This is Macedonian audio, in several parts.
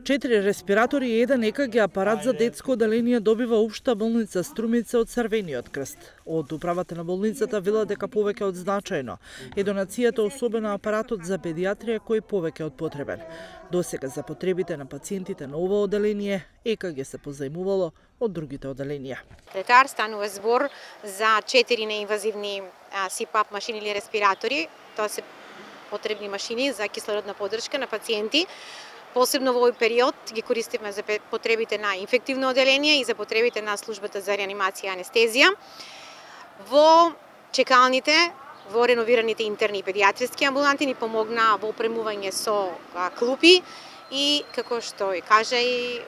4 респиратори и 1 ЕКГ апарат за детско оделение добива Општа болница Струмица од Црвениот крст. Од управата на болницата велат дека повеќе од значајно е донацијата, особено апаратот за педиатрија кој повеќе од потребен. Досега за потребите на пациентите на ова оделение ЕКГ се позајмувало од другите оделенија. Летар станува збор за 4 неинвазивни СИПАП машини или респиратори. Тоа се потребни машини за кислородна поддршка на пациенти. Посебно во овој период ги користиме за потребите на инфективно оделение и за потребите на службата за реанимација и анестезија. Во чекалните, во реновираните интерни и педиатриски амбуланти ни помогна во опремување со клупи и, како што и кажа и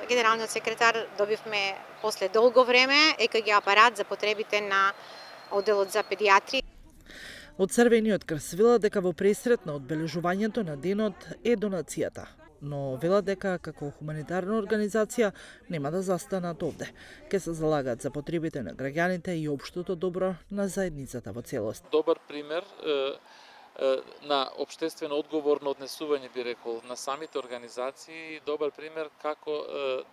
генералниот секретар, добивме после долго време ЕКГ апарат за потребите на одделот за педиатри. Од Црвениот крст велат дека во пресрет на одбележувањето на денот е донацијата, но велат дека како хуманитарна организација нема да застанат овде. Ке се залагаат за потребите на граѓаните и општото добро на заедницата во целост. Добар пример на општествено одговорно однесување, би рекол, на самите организации, добар пример како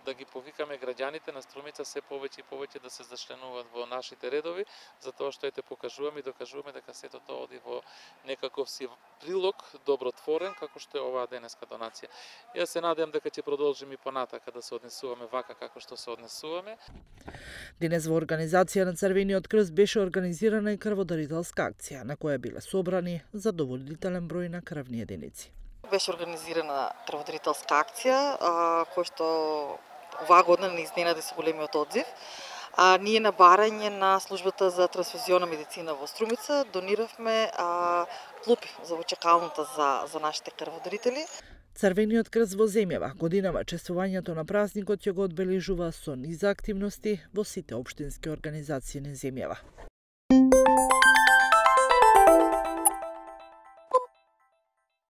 да ги повикаме граѓаните на Струмица се повеќе и повеќе да се зачленуваат во нашите редови, затоа што ете покажуваме и докажуваме дека сето тоа оди во некаков си прилог добротворен, како што е оваа денеска донација. Јас се надевам дека ќе продолжиме и понатака да се однесуваме вака како што се однесуваме. Денес во организација на Црвениот крст беше организирана и крводарителска акција, на која биле собрани задоволителен број на крвни единици. Беше организирана крводарителска акција, која што оваа година не изненади со големиот одзив. Ние на барање на службата за трансфузионна медицина во Струмица дониравме клупи за чекалната за нашите крводарители. Црвениот крст во земјава годинава чествувањето на празникот ќе го одбележува со низа активности во сите општински организации на земјава.